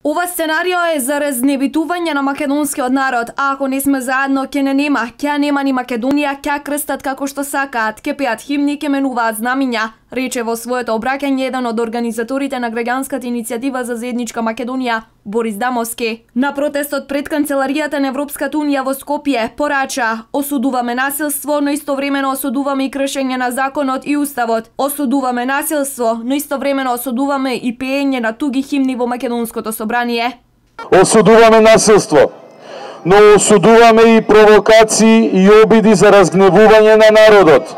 Ова сценарио е за разнебитување на македонскиот народ, а ако не сме заедно, ќе не нема, ќе нема ни Македонија, ќе крстат како што сакаат, ќе пеат химни, ќе менуваат знамиња, рече во своето обраќање еден од организаторите на граѓанската иницијатива за заедничка Македонија, Борис Дамовски. На протестот пред канцеларијата на Европската унија во Скопје порача: осудуваме насилство, но истовремено осудуваме и кршење на законот и уставот. Осудуваме насилство, но истовремено осудуваме и пеење на туги химни во македонското собрание. Осудуваме насилство, но осудуваме и провокации и обиди за разгневување на народот.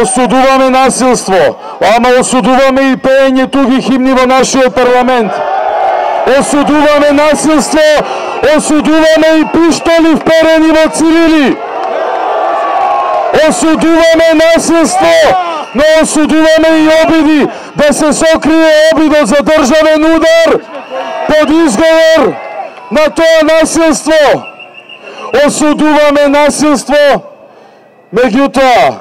Осудуваме насилство, ама осудуваме и пеење туги химни во нашиот парламент. Осудуваме насилство, осудуваме и пиштоли вперени во цивили. Осудуваме насилство, но осудуваме и обиди да се сокрие обидот за државен удар под изговор на тоа насилство. Осудуваме насилство, меѓутоа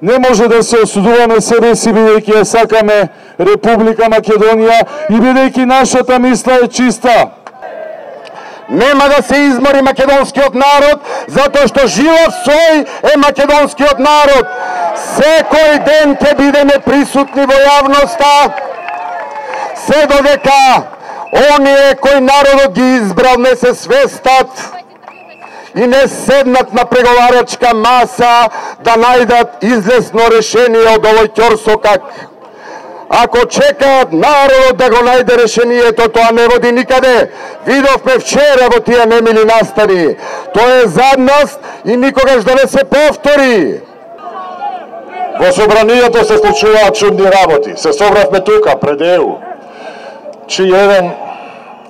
не може да се осудуваме себе си, бидејќи ја сакаме Република Македонија и бидејќи нашата мисла е чиста. Нема да се измори македонскиот народ, затоа што жив сој е македонскиот народ. Секој ден ќе бидеме присутни во јавноста, се додека оние кои народот ги избрал не се свестат и не седнат на преговарачка маса да најдат излесно решение од овој ќорсокак. Ако чекаат народот да го најде решението, тоа не води никаде. Видовме вчера во тие немили настани. Тоа е задност и никогаш да не се повтори. Во собранието се случуваат чудни работи. Се собравме тука, пред ЕУ, чиј еден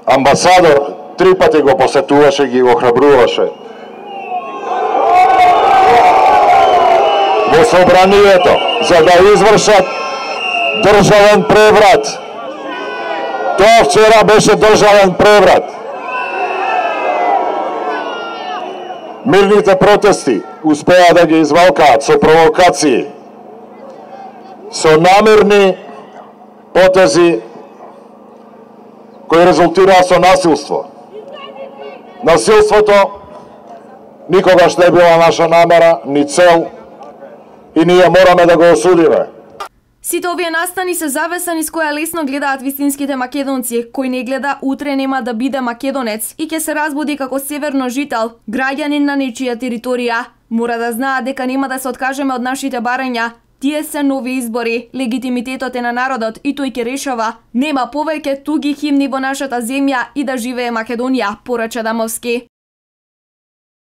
амбасадор 3 пати го посетуваше, ги охрабруваше. Во собранието, за да извршат државен преврат. Тоа вчера беше државен преврат. Мирните протести успеа да ги извалкаат со провокации, со намерни потези кои резултираа со насилство. Насилството никогаш не била наша намера, ни цел, и ние мораме да го осудиме. Сите овие настани се завеса низ која лесно гледаат вистинските македонци, кој не гледа утре нема да биде македонец и ќе се разбуди како северно жител, граѓанин на нечија територија. Мора да знаат дека нема да се откажеме од нашите барања. Тие се нови избори, легитимитетот е на народот и тој ќе решава. Нема повеќе туги химни во нашата земја и да живее Македонија, порача Дамовски.